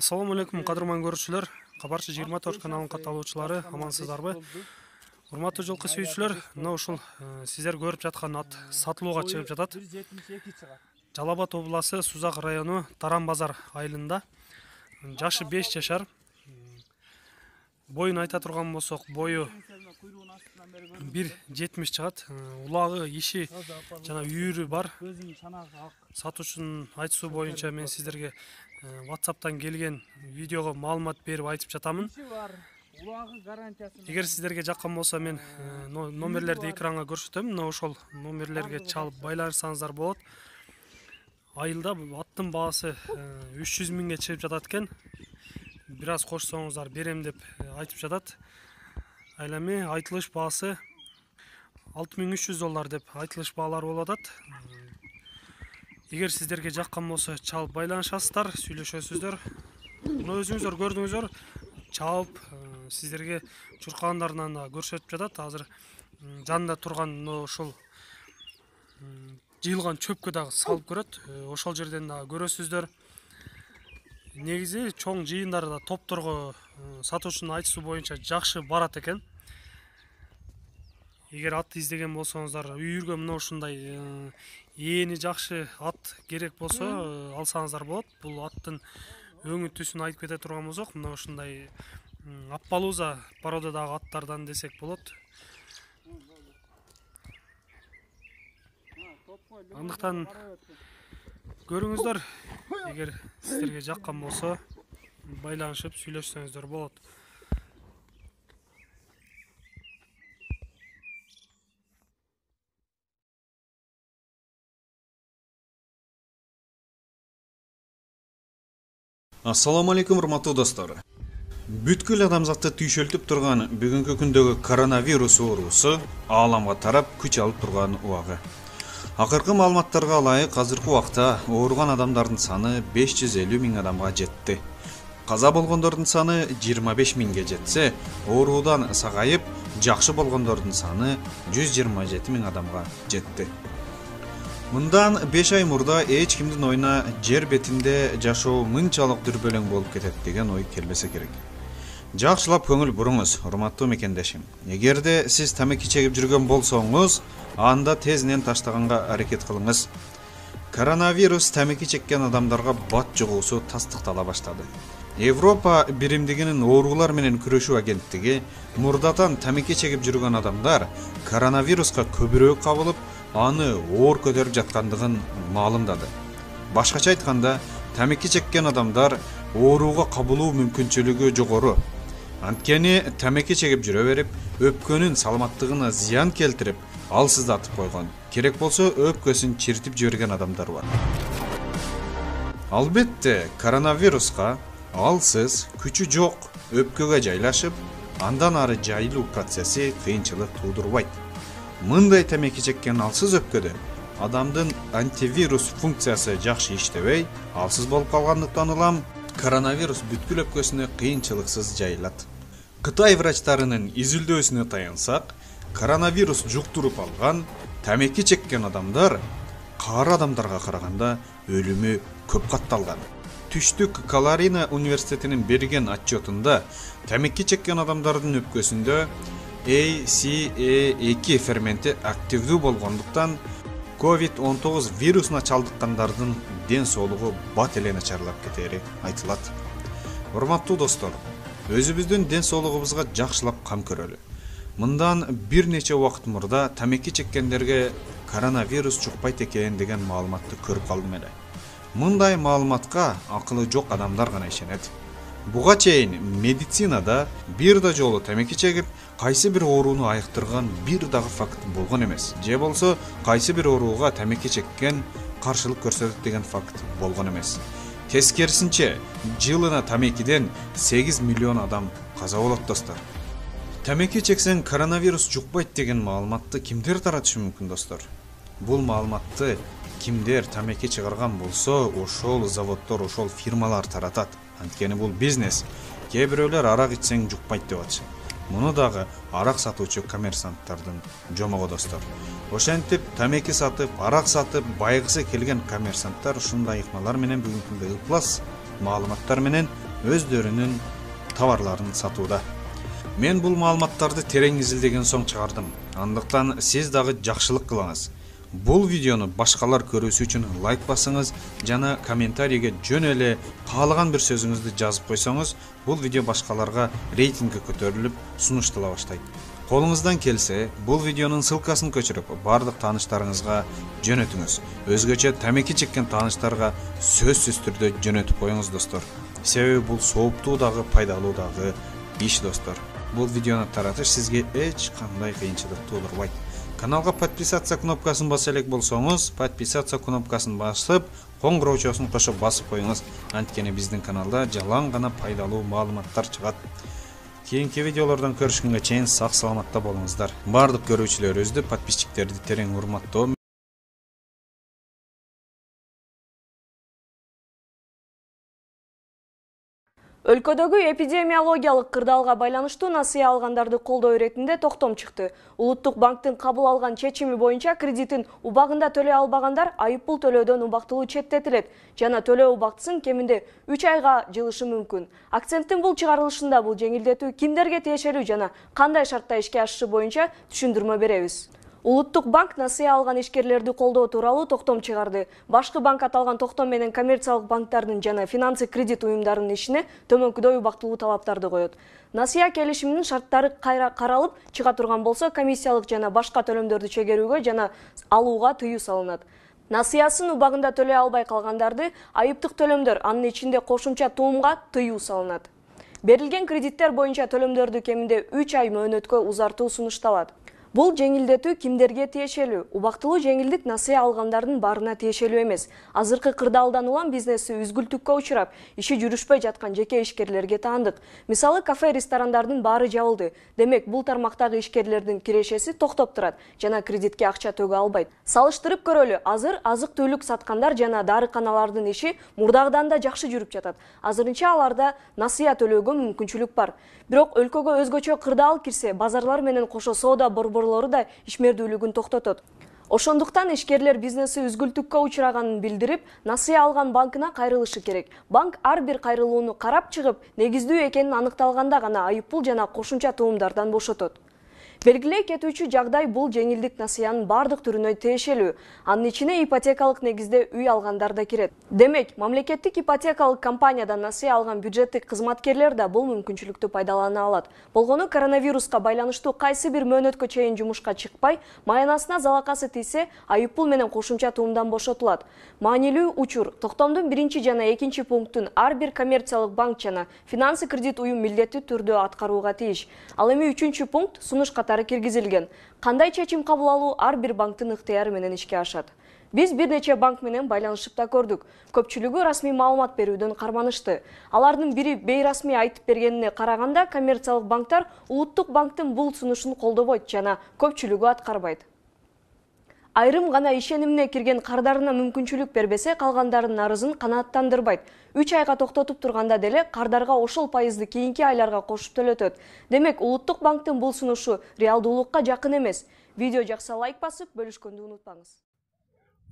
Assalamu alaikum, кадырман көрүүчүлөр. Кабарчы 24 каналынын катталуучулары, амансыздарбы? Урматтуу жылкы сүйүүчүлөр, мына ушул сиздер көрүп жаткан ат сатылууга чыгып жатат. Жалал Абад областы Сузак району Таран базар айылында. Жашы 5 жашар. Боюн айта турган болсок, бою 1,70 чыгат. Улагы, иши жана үйүрү бар. Сатуучунун айтуусу боюнча мен сиздерге WhatsApp'тан келген видеого маалымат берип айтып жатамын. Эгер сиздерге жаккан болсо мен номерлерди экранга көрсөтөм. Мына ошол номерлерге чалып байланышсаңыздар болот. Айылда аттын баасы 300 миңге чыгып жатат экен. Бир аз кошсоңуздар берем деп айтып жатат. Ал эми айтылыш баасы $6300 деп айтылыш баалар болуп атат. Эгер сиздерге жаккан болсо чалып байланышасыздар, сүйлөшөсүздөр. Муну өзүңүздөр көрдүңүздөр, чалып сиздерге чуркагандарынан да көрсөтүп жатат. Азыр жанында турган ошол жыйылган чөпкө дагы салып көрөт. Ошол жерден дагы көрөсүздөр. Негизи чоң жыйындарда топторго сатуучунун айтуусу боюнча жакшы барат экен. Эгер ат издеген болсоңуздар, үйүргө мына ушундай эни жакшы ат керек болсо алсаңыздар болот. Бул аттын өңү түсүн айтып кете турган болсок, мына ушундай аппалууза породадагы аттардан десек болот. Андыктан көрүңүздөр, эгер сиздерге жаккан болсо байланышып сүйлөшсөңүздөр болот. Ассаламу алейкум, урматтуу достор. Бүткүл адамзатты түйшөлтүп турган бүгүнкү күндөгү коронавирус оорусу ааламга тарап күч алып турган убагы. Акыркы маалыматтарга ылайык азыркы убакта ооруган адамдардын саны 550 миң адамга жетти. Каза болгондордун саны 25 миңге жетсе, ооруудан сагайып жакшы болгондордун саны 127 миң адамга жетти. Мындан 5 ай мурда эч кимдин оюна жер бетинде жашоо мынчалык дүрбөлөң болуп кетет деген ой келбесе керек. Жакшылап көңүл буруңуз, урматтуу мекендешим. Эгерде сиз тамеки чегип жүргөн болсоңуз, анда тезинен таштаганга аракет кылыңыз. Коронавирус тамеки чеккен адамдарга бат жугуусу тастыктала баштады. Европа биримдигинин оорулар менен күрөшүү агенттиги мурдатан тамеки чегип жүргөн адамдар коронавируска көбүрөөк кабылып, аны оор көтөрүп жаткандыгын маалымдады. Башкача айтканда, тамеки чеккен адамдар ооруга кабылуу мүмкүнчүлүгү жогору. Анткени тамеки чегип жүрө берип, өпкөнүн саламаттыгына зыян келтирип, алсыздатып койгон. Керек болсо өпкөсүн чиртип жиберген адамдар бар. Албетте, коронавируска алсыз, күчү жок өпкөгө жайлашып, андан ары жайылуу процесси кыйынчылык туудурбайт. Мындай тамеки чеккен алсыз өпкөдө адамдын антивирус функциясы жакшы иштебей, алсыз болуп калгандыктан улам коронавирус бүткүл өпкөсүнө кыйынчылыксыз жайылат. Кытай врачтарынын изилдөөсүнө таянсак, коронавирус жуктуруп алган тамеки чеккен адамдар кары адамдарга караганда өлүмү көп катталган. Түштүк Каларина университетинин берген отчетунда тамеки чеккен адамдардын өпкөсүндө ACE2 ферменти активдүү болгондуктан COVID-19 вирусуна чалдыккандардын ден соолугу бат эле начарлап кетери айтылат. Урматтуу достор, өзүбүздүн ден соолугубузга жакшылап кам көрөлү. Мындан бир нече убакыт мурда тамеки чеккендерге коронавирус жукпайт экен деген маалыматты көрүп калдым эле. Мындай маалыматка акылы жок адамдар гана ишенет. Буга чейин медицинада бир да жолу тамеки чегип, кайсы бир ооруну айыктырган бир дагы факт болгон эмес. Же болсо кайсы бир ооруга тамеки чеккен каршылык көрсөтөт деген факт болгон эмес. Тескерисинче, жылына тамекиден 8 миллион адам каза болот достор. Тамеки чексең коронавирус жукпайт деген маалыматты кимдер таратышы мүмкүн достор? Бул маалыматты кимдер тамеки чыгарган болсо, ошол заводдор, ошол фирмалар таратат. Анткени бул бизнес. Кээ бирөөлөр арак ичсең жукпайт деп атышат. Муну дагы арак сатуучу коммерсанттардын жомогу достор. Ошентип тамеки сатып, арак сатып байгысы келген коммерсанттар ушундай ыкмалар менен бүгүнкү күндө ыплас маалыматтар менен өздөрүнүн товарларын сатууда. Мен бул маалыматтарды терең изилдеген соң чыгардым. Андыктан сиз дагы жакшылык кылыңыз. Бул видеону башкалар көрүүсү үчүн лайк басыңыз жана комментарийге жөн эле каалаган бир сөзүңүздү жазып койсоңуз, бул видео башкаларга рейтинги көтөрүлүп, сунуштала баштайт. Колуңуздан келсе, бул видеонун ссылкасын көчүрүп, бардык тааныштарыңызга жөнөтүңүз. Өзгөчө тамеки чеккен тааныштарга сөзсүз түрдө жөнөтүп коюңуз достор. Себеби бул сооптуу дагы пайдалуу дагы иш достор. Бул видеону таратыш сизге эч кандай кыйынчылык туудурбайт. Каналга подписаться кнопкасын баса элек болсоңуз, подписаться кнопкасын басып, коңгуроочосун кошо басып коюңуз. Анткени биздин каналда жалаң гана пайдалуу маалыматтар чыгат. Кийинки видеолордон көрүшкөнгө чейин сак саламатта болуңуздар. Бардык көрүүчүлөрүбүздү, подписчиктерди терең урматтоо. Өлкөдөгү эпидемиологиялык кырдаалга байланыштуу насыя алгандарды колдоо иретинде токтом чыкты. Улуттук банктын кабыл алган чечими боюнча кредитин убагында төлөй албагандар айыппул төлөөдөн убактылуу четтетилет жана төлөө убактысын кеминде 3 айга жылышы мүмкүн. Акценттин бул чыгарылышында бул жеңилдетүү кимдерге тиешелүү жана кандай шартта ишке ашышы боюнча түшүндүрмө беребиз. Улуттук банк насыя алган ишкерлерди колдоо тууралуу токтом чыгарды. Башкы банк аталган токтом менен коммерциялык банктардын жана финансы кредит уюмдарынын ишине төмөнкүдөй убактылуу талаптарды коет. Насыя келишиминин шарттары каралып чыга турган болсо, комиссиялык жана башка төлөмдөрдү чегерүүгө жана алууга тыюу салынат. Насыясын убагында төлөй албай калгандарды айыптык төлөмдөр, анын ичинде кошумча туумга тыюу салынат. Берилген кредиттер боюнча төлөмдөрдү кеминде 3 ай мөөнөткө узартуу сунушталат. Бул жеңилдетүү кимдерге тиешелүү? Убактылуу жеңилдик насыя алгандардын баарына тиешелүү эмес. Азыркы кырдаалдан улам бизнеси үзгүлтүккө учурап, иши жүрүшпөй жаткан жеке ишкерлерге таандык. Мисалы, кафе, ресторандардын баары жабылды. Демек, бул тармактагы ишкерлердин кирешеси токтоп турат жана кредитке акча төгө албайт. Салыштырып көрөлү, азыр азык-түлүк саткандар жана дарыканалардын иши мурдагыдан да жакшы жүрүп жатат. Азырынча аларда насыя төлөөгө мүмкүнчүлүк бар. Бирок өлкөгө өзгөчө кырдаал кирсе, базарлар менен кошо соода борборлору да ишмердүүлүгүн токтотот. Ошондуктан ишкерлер бизнеси үзгүлтүккө учураганын билдирип, насыя алган банкына кайрылышы керек. Банк ар бир кайрылууну карап чыгып, негиздүү экенин аныкталганда гана айыппул жана кошумча туумдардан бошотот. Белгилей кетүүчү жагдай, бул жеңилдик насыянын бардык түрүнө тиешелүү. Анын ичине ипотекалык негизде үй алгандар да кирет. Демек, мамлекеттик ипотекалык компаниядан насыя алган бюджеттик кызматкерлер да бул мүмкүнчүлүктү пайдалана алат. Болгону коронавируска байланыштуу кайсы бир мөөнөткө чейин жумушка чыкпай, маянасына залакасы тийсе, айыппул менен кошумча туумдан бошотулат. Маанилүү учур: токтомдун 1 жана 2 пунктун ар бир коммерциялык банк жана финансы кредит уюм милдеттүү түрдө аткарууга тийиш. Ал эми 3 пункт сунуш киргизилген. Кандай чечим кабыл алуу ар бир банктын ыктыяры менен ишке ашат. Биз бир нече банк менен байланышып да көрдүк. Көпчүлүгү расмий маалымат берүүдөн карманышты. Алардын бири бейрасмий айтып бергенине караганда, коммерциялык банктар улуттук банктын бул сунушун колдобойт жана көпчүлүгү аткарбайт. Айрым гана ишенимине кирген кардарына мүмкүнчүлүк бербесе, калгандарынын арызын канааттандырбайт. 3 айга токтотуп турганда деле кардарга ошол пайызды кийинки айларга кошуп төлөтөт. Демек, улуттук банктын бул сунушу реалдуулукка жакын эмес. Видео жакса лайк басып, бөлүшкөндү унутпаңыз.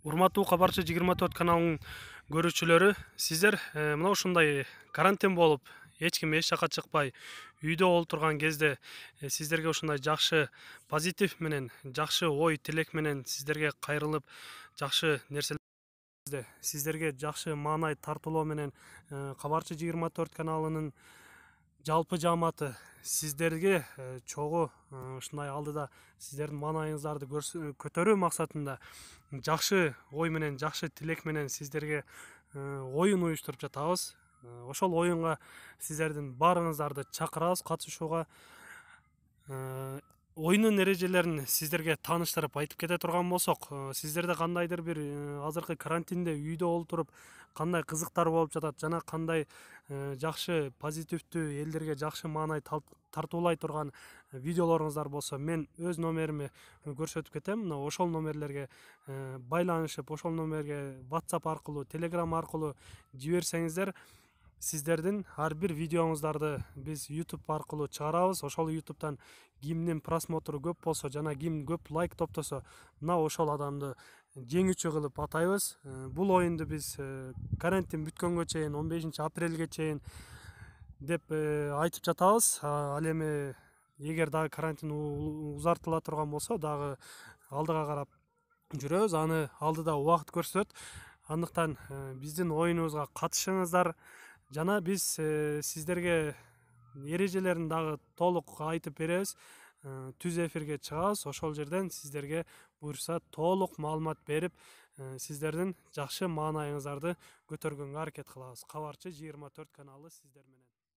Урматтуу Кабарчы 24 каналынын көрүүчүлөрү, сиздер мына ушундай карантин болуп, эч ким эч жака чыкпай, үйдө олтурган кезде сиздерге ушундай жакшы позитив менен, жакшы ой тилек менен сиздерге кайрылып, жакшы нерселер сиздерге жакшы маанай тартуулоо менен Кабарчы 24 каналынын жалпы жааматы сиздерге чогуу ушундай алдыда сиздердин маанайыңыздарды көтөрүү максатында жакшы ой менен, жакшы тилек менен сиздерге оюн уюштуруп жатабыз. Ошол оюнга сиздердин баарыңыздарды чакырабыз катышууга. Оюнун эрежелерин сиздерге тааныштырып айтып кете турган болсок, сиздерде кандайдыр бир азыркы карантинде үйдө олтуруп кандай кызыктар болуп жатат жана кандай жакшы позитивдүү элдерге жакшы маанай тартуулай турган видеолоруңуздар болсо, мен өз номеримди көрсөтүп кетем. Мына ошол номерлерге байланышып, ошол номерге WhatsApp аркылуу, Telegram аркылуу жиберсеңиздер, сиздердин ар бир видеоңуздарды биз YouTube аркылуу чыгарабыз. Ошол YouTube'дан кимдин просмотру көп болсо жана ким көп лайк топтосо, мына ошол адамды жеңүүчү кылып атайбыз. Бул оюнду биз карантин бүткөнгө чейин, 15 апрелге чейин деп айтып жатабыз. Ал эми эгер дагы карантин узартыла турган болсо дагы алдыга карап жүрөбүз. Аны алдыда убакыт көрсөтөт. Андыктан биздин оюнубузга катышыңыздар жана биз сиздерге эрежелерин дагы толук айтып беребиз. Түз эфирге чыгабыз. Ошол жерден сиздерге буюрса толук маалымат берип, сиздердин жакшы маанайыңыздарды көтөргөнгө аракет кылабыз. Кабарчы 24 каналы сиздер менен.